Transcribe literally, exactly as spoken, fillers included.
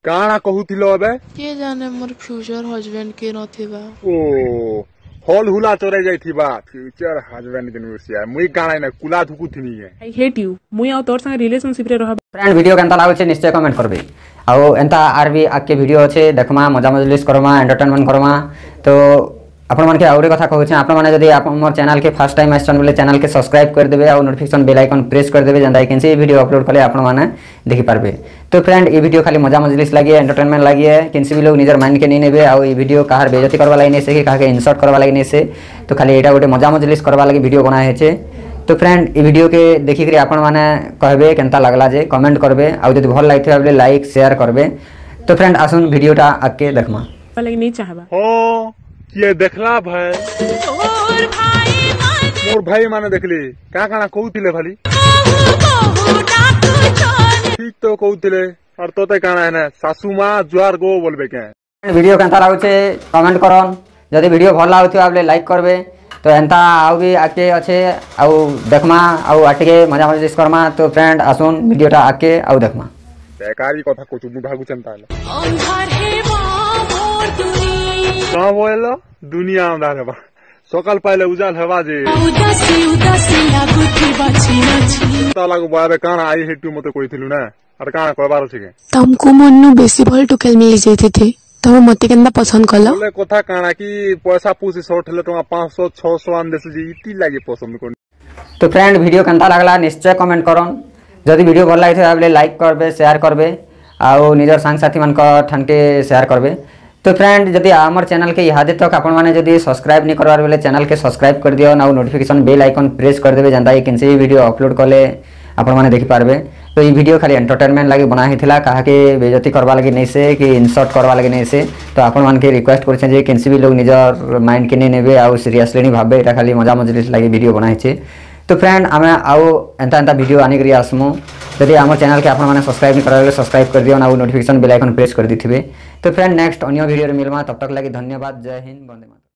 କାଣା କହୁଥିଲ ଏବେ କିଏ ଜାନେ ମୋର ଫ୍ୟୁଚର ହଜବେଣ୍ଡ କିଏ ନଥିବା ଓ ହଲ ହୁଲା ଚରେଇ ଯାଇଥିବା ଫ୍ୟୁଚର ହଜବେଣ୍ଡ କେନୁ ସିଆ ମୁଇଁ କାଣା ନା କୁଲା ଧୁକୁଥିନି କେ I hate you ମୁଇଁ ଆଉ ତୋର ସାଙ୍ଗେ ରିଲେସନସିପ ରେ ରହ ଫ୍ରେଣ୍ଡ ଭିଡ଼ିଓ କେନ୍ତା ଲାଗୁଛେ ନିଶ୍ଚୟ କମେଣ୍ଟ କରବେ ଆଉ ଏନ୍ତା ଆର୍ ବି ଆଗକେ ଭିଡ଼ିଓ ଅଛେ ଦେଖମା ମଜା ମଜଲିସ୍ କରମା ଏଣ୍ଟରଟେନମେଣ୍ଟ କରମା ତ ଆପଣମାନକେ ଆଉ ଗୋଟେ କଥା କହୁଛେ ଆପଣମାନେ ଯଦି ଆପଣ ମୋର ଚ୍ୟାନେଲକେ ଫାର୍ଷ୍ଟ ଟାଇମ୍ ଆସିଛନ୍ ବୋଲେ ଚ୍ୟାନେଲକେ ସବସ୍କ୍ରାଇବ୍ କରିଦେବେ ଆଉ ନୋଟିଫିକେସନ୍ ବେଲ୍ ଆଇକନ୍ ପ୍ରେସ୍ କରିଦେବେ ଯେନ୍ତା କେନ୍ସି ଭିଡ଼ିଓ ଅପଲୋଡ଼ କଲେ ଆପଣମାନେ ଦେଖିପାରବେ ତ ଫ୍ରେଣ୍ଡ ଏ ଭିଡ଼ିଓ ଖାଲି ମଜା ମଜଲିସ୍ ଲାଗି ଏଣ୍ଟରଟେନମେଣ୍ଟ ଲାଗି କେନ୍ସି ବି ଲୋକ ନିଜର ମାଇଣ୍ଡକେ ନେଇ ନେବେ ଆଉ ଏ ଭିଡ଼ିଓ କାହାର ବେଜତି କରବା ଲାଗି ନେଇ ସେ କି କାହାକେ ଇନସଲ୍ଟ କରବା ଲାଗି ନେଇ ସେ ତ ଖାଲି ଏଇଟା ଗୋଟେ ମଜା ମଜଲିସ୍ କରବା ଲାଗି ଭିଡ଼ିଓ ବନା ହେଇଛେ ତ ଫ୍ରେଣ୍ଡ ଏ ଭିଡ଼ିଓକେ ଦେଖିକରି ଆପଣମାନେ କହବେ କେନ୍ତା ଲାଗଲା ଯେ କମେଣ୍ଟ କରବେ ଆଉ ଯଦି ଭଲ ଲାଗିଥିବା ବୋଲେ ଲାଇକ୍ ସେୟାର କରବେ ତ ଫ୍ରେଣ୍ଡ ଆସୁନ୍ ଭିଡ଼ିଓଟା ଆଗକେ ଦେଖମା ଲାଗି ନେଇ ଚାହବା ହଁ କିଏ ଦେଖଲା ଭାଇ ମୋର ଭାଇ ମାନେ ଦେଖିଲି କାଣା କାଣା କହୁଥିଲେ ଭାଲି ଠିକ ତ କହୁଥିଲେ ଆର ତତେ କାଣା ହେନା ଶାଶୁ ମା ଜୁହାର ଗୋ ବୋଲବେ କେ ଭିଡ଼ିଓ କେନ୍ତା ଲାଗୁଛେ କମେଣ୍ଟ କରନ୍ ଯଦି ଭିଡ଼ିଓ ଭଲ ଲାଗୁଥିବା ବୋଲେ ଲାଇକ୍ କରବେ ତ ଏନ୍ତା ଆଉ ବି ଆଗକେ ଅଛେ ଆଉ ଦେଖମା ଆଉ ଆର୍ ଟିକେ ମଜା ମଜଲିସ୍ କରମା ତ ଫ୍ରେଣ୍ଡ ଆସୁନ୍ ଭିଡ଼ିଓଟା ଆଗକେ ଆଉ ଦେଖମା ବେକାରୀ କଥା କହୁଛୁ ମୁଁ ଭାବୁଛେଁ ତାହେଲେ କଣ ବୋଇଲ ଦୁନିଆ ଅନ୍ଧାର ହେବା ସକାଳ ପାଇଲେ ଉଜାଲ ହେବା ଯେ ତା ଲାଗୁ ଏବେ କାଣା I ହେଟୁ ମତେ କହିଥିଲୁ ନା ଆର କାଣା କହିବାର ଅଛି କେ ତମକୁ ମନୁ ବେଶୀ ଭଲ ଟୁକେଲ ମିଳି ଯାଇଥିଲେ ତମେ ମତେ କେନ୍ତା ପସନ୍ଦ କଲ ବୋଲେ କଥା କାଣା କି ପଇସା ପୁସି ସର୍ଟ ହେଲେ ଟଙ୍କା ପାଞ୍ଚଶହ ଛଅଶହ ଆଣି ଦେସି ଯେ ଇତି ଲାଗି ପସନ୍ଦ କରୁନି ତ ଫ୍ରେଣ୍ଡ ଭିଡ଼ିଓ କେନ୍ତା ଲାଗଲା ନିଶ୍ଚୟ କମେଣ୍ଟ କରନ୍ ଯଦି ଭିଡ଼ିଓ ଭଲ ଲାଗିଥିବା ବୋଲେ ଲାଇକ୍ କରବେ ସେୟାର କରବେ ଆଉ ନିଜର ସାଙ୍ଗସାଥୀମାନଙ୍କ ଠାନ୍କେ ସେୟାର କରବେ ତ ଫ୍ରେଣ୍ଡ ଯଦି ଆମର ଚ୍ୟାନେଲକେ ଇହାଦେ ତକ ଆପଣମାନେ ଯଦି ସବସ୍କ୍ରାଇବ୍ ନି କରବାର ବେଲେ ଚ୍ୟାନେଲକେ ସବସ୍କ୍ରାଇବ୍ କରିଦିଅନ୍ ଆଉ ନୋଟିଫିକେସନ୍ ବେଲ୍ ଆଇକନ୍ ପ୍ରେସ୍ କରିଦେବେ ଯେନ୍ତା କି କେନ୍ସି ବି ଭିଡ଼ିଓ ଅପଲୋଡ଼ କଲେ ଆପଣମାନେ ଦେଖିପାରବେ ତ ଏଇ ଭିଡ଼ିଓ ଖାଲି ଏଣ୍ଟରଟେନମେଣ୍ଟ ଲାଗି ବନା ହେଇଥିଲା କାହାକେ ବେଜତି କରବା ଲାଗି ନେଇ ସେ କି ଇନସଲ୍ଟ କରବା ଲାଗି ନେଇ ସେ ତ ଆପଣମାନକେ ରିକ୍ୱେଷ୍ଟ କରୁଛେଁ ଯେ କେନ୍ସି ବି ଲୋକ ନିଜର ମାଇଣ୍ଡକେ ନେଇ ନେବେ ଆଉ ସିରିୟସଲି ନି ଭାବବେ ଏଇଟା ଖାଲି ମଜା ମଜଲିସ୍ ଲାଗି ଭିଡ଼ିଓ ବନା ହେଇଛେ ତ ଫ୍ରେଣ୍ଡ ଆମେ ଆଉ ଏନ୍ତା ଏନ୍ତା ଭିଡ଼ିଓ ଆନିକରି ଆସମୁ ଯଦି ଆମର ଚ୍ୟାନେଲକେ ଆପଣମାନେ ସବସ୍କ୍ରାଇବ୍ ନି କରାବେ ସବସ୍କ୍ରାଇବ୍ କରିଦିଅନ୍ ଆଉ ନୋଟିଫିକେସନ୍ ବେଲ୍ ଆଇକନ୍ ପ୍ରେସ୍ କରିଦେଇଥିବେ ତ ଫ୍ରେଣ୍ଡ ନେକ୍ସଟ ଅନ୍ୟ ଭିଡ଼ିଓରେ ମିଲମା ତब ତକ ଲାଗି ଧନ୍ୟବାଦ ଜୟ ହିନ୍ଦ ବନ୍ଦେ ମାତରମ୍